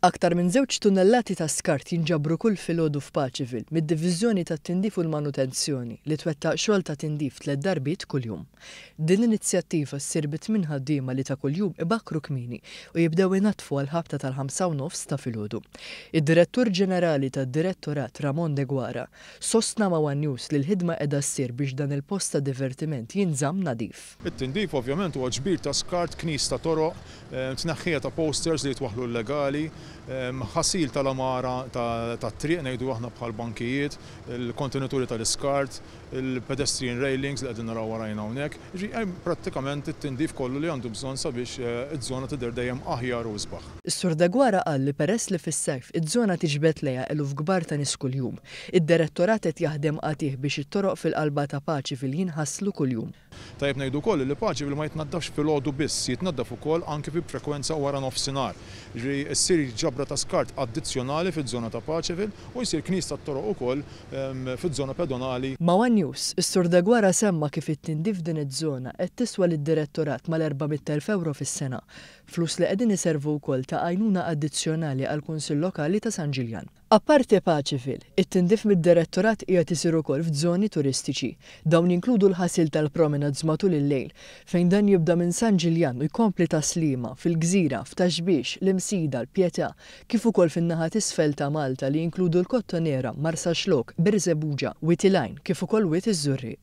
Aktar minn żewġ tunnellati ta' skart jinġabru kull filgħodu f'Paceville mid-Diviżjoni tat-Tindif u l-Manutenzjoni li twettaq xogħol ta' tindif tliet darbiet kuljum. Din l-inizjattiva ssir bi tmien ħaddiema li ta' kuljum ibakkru kmieni u jibdew inaddfu għall-ħabta tal-5:30 ta' filgħodu. Id-Direttur Ġenerali tad-Direttorat Ramon Deguara sostna ma' one News li l-ħidma qiegħda ssir biex dan il-post ta' divertiment jinżamm nadif. It-tindif ovvjament huwa ġbir ta' skart, knis ta' toroq, tneħħija ta' posters li jitwaħħlu illegali, ħasil tal-għamara tat-triq ngħidu aħna bħal bankijiet, il-kontenituri tal-iskart, il-pedestrian railings li qegħdin naraw warajna hawnhekk. Jiġifieri hemm prattikament it-tindif kollu li għandu bżonn sabiex iż-żona tidher dejjem aħjar u isbaħ. Is-Sur Deguara qal li peress li fis-sajf iż-żona tiġbed lejha eluf kbar ta' nies kuljum, id-Direttorat qed jaħdem qatigħ biex it-toroq fil-qalba ta' Paceville jinħaslu kuljum. Tajjeb ngħidu wkoll li Paceville ma jitnaddafx filgħodu biss, jitnaddaf ukoll anki fi frekwenza wara nofsinhar. Jiġifieri ssir ġabra ta' skart addizzjonali fiż-żona ta' Paceville u jsir knis tat-toroq ukoll fiż-żona pedonali. Ma' one News, is-Sur Deguara semma kif it-tindif f'din iż-żona qed tiswa lid-Direttorat mal-400,000 ewro fis-sena, flus li qegħdin iservu wkoll ta' għajnuna addizzjonali għall-Kunsill Lokali ta' San Ġiljan. Apparti Paceville, it-tindif mid-Direttorat qiegħed isir ukoll f'żoni turistiċi. Dawn jinkludu l-ħasil tal-promenades matul il-lejl, fejn dan jibda minn San Ġiljan u jkompli Tas-Sliema, fil-Gżira, f'Ta' Xbiex, l-Imsida, l-Pietà, kif ukoll fin-naħa t'isfel ta' Malta li jinkludu l-Kottonera, Marsaxlokk, Birżebbuġa, Wied il-Għajn, kif ukoll Wied iż-Żurrieq.